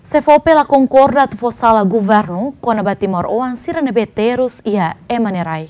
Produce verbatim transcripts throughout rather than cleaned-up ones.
SEFOPE la konkorda atu fó sala governu kona-ba timoroan sira ne'ebé terus iha ema nia rai.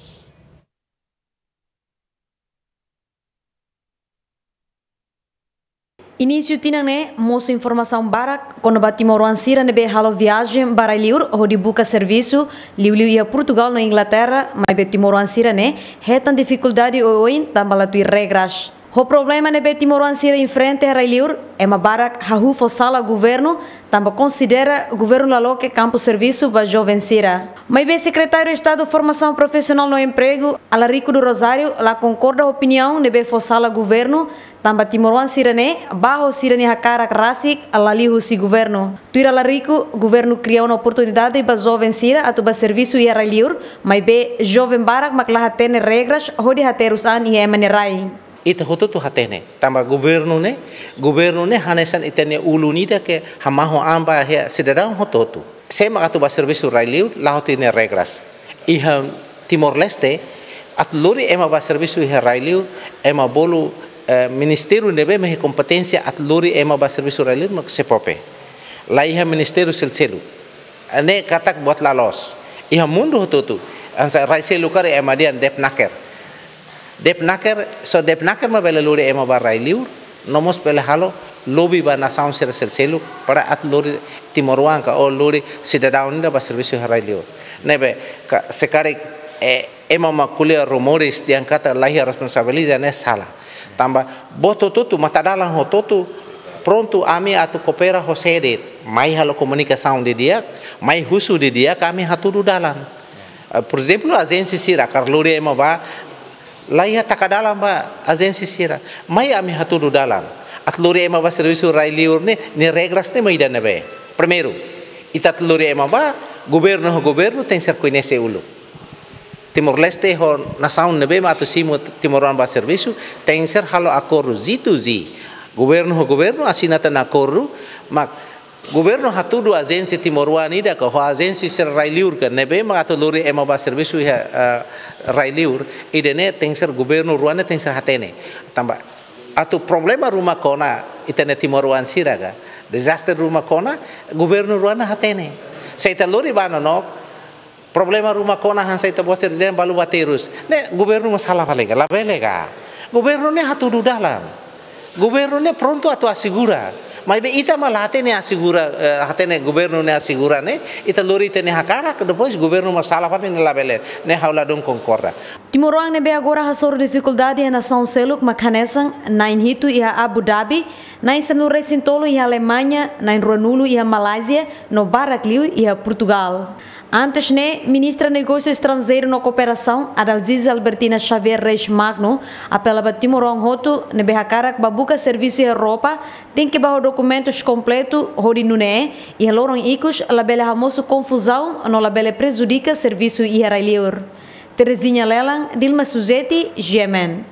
Inísiu tinan ne'e, mosu informasaun barak kona-ba timoroan sira ne'ebé halo viajen ba rai-liur hodi buka servisu, liuliu iha Portugal no Inglaterra, maibé timoroan sira-ne'e hetan difikuldade oioin tanba la tuir regras. Ho problema ne'ebé timoroan sira enfrenta iha rai-liur, ema barak hahú fó sala governu, tanba konsidera governu la loke kampu servisu ba joven sira. Maibé Sekretáriu Estadu Formasaun Profisionál no Empregu, Alarico do Rosário, la konkorda opiniaun ne'ebé fó sala governu, tanba timoroan sira-ne'e bá ho sira-nia hakarak rasik, la liu husi governu. Tuir Alarico, governu kria ona oportunidade ba joven sira atu bá servisu iha rai-liur, maibé joven barak mak la hatene regras hodi haterus an iha ema nia rai. Ita hotu-hotu hatene, tanba governu ne'e, governu ne'e hanesan ita-nia ulun ida ke hamaho an ba iha sidadaun hotu-hotu. Sé mak atu bá servisu rai-liur, la hatene regras. Iha Timor-Leste, atu lori ema bá servisu iha rai-liur, ema bolu, eh, ministériu ne'ebé mak iha kompeténsia atu lori ema bá servisu rai-liur mak SEFOPE. La iha ministériu seluk-seluk. Ne'e katak buat la loos. Iha mundu hotu-hotu. Hanesan rai seluk karik ema dehan DEPNAKER. DEPNAKER, só DEPNAKER mak bele lori ema bá rai-liur, no mós bele halo lobby ba nasaun sira seluk-seluk, para atu lori timoroan ka ou lori sidadaun ida bá servisu iha rai-liur. Ne'ebé, ka, se karik, eh, ema mak ko'alia rumores dehan katak la iha responsabiliza ne'e sala. Tanba buat hotu-hotu, matadalan hotu-hotu, prontu ami atu koopera ho sé de'it, mai halo komunikasaun didi'ak, mai husu didi'ak, ami hatudu dalan. Eh, por ezemplu, ajénsia sira hakarak lori ema bá, la iha taka dalan ba ajénsia sira. Mai ami hatudu dalan. Atu lori ema bá servisu rai-liur ne'e, nia regras ne'e mak ida-ne'ebé. Primeiru, ita atu lori ema bá, governu ho governu tenke ser koñese uluk. Timor-Leste ho nasaun ne'ebé mak atu simu timoroan bá servisu, tenke ser halo akordu G to G. Governu ho governu asina tan akordu, mak governu hatudu ajénsia timoroan ida ka, ho ajénsia sira rai-liur ka, ne'ebé mak atu lori ema bá servisu iha, eh, rai-liur, ida-ne'e tenke ser governu rua ne'e tenke ser hatene. Tanba atu problema ruma kona ita-nia timoroan sira ka, dezastre ruma kona, governu rua ne'e hatene. Se ita lori bá nonook, problema ruma kona hanesan ita-boot sira dehan balu bá terus. Ne'e governu mak sala fali ka, labele ka. Governu ne'e hatudu dalan. Governu ne'e prontu atu asegura. Maibé ita mak la hatene asegura, eh, hatene governu ne'e asegura ne'e, ita lori ita-nia hakarak, depois governu mak sala fali ne'e labele. Ne'e ha'u ladún konkorda. Timoroan ne'ebé agora hasoru difikuldade iha nasaun seluk mak hanesan na'in hitu iha Abu Dhabi, na'in sanulu-resin-tolu iha Alemaña, na'in ruanulu iha Malázia, no barak liu iha Portugal. Antes ne'e, Ministra Negósiu Estranjeiru no Kooperasaun, Adalziza Albertina Xavier Reis Magno, apela ba timoroan hotu ne'ebé hakarak bá buka servisu iha Europa, tenke bá ho dokumentus kompletu, hodi nune'e iha loron ikus labele hamosu konfuzaun no labele prejudika servisu iha rai-liur. Terezinha Lelan, Dilma Suzeti, G M N.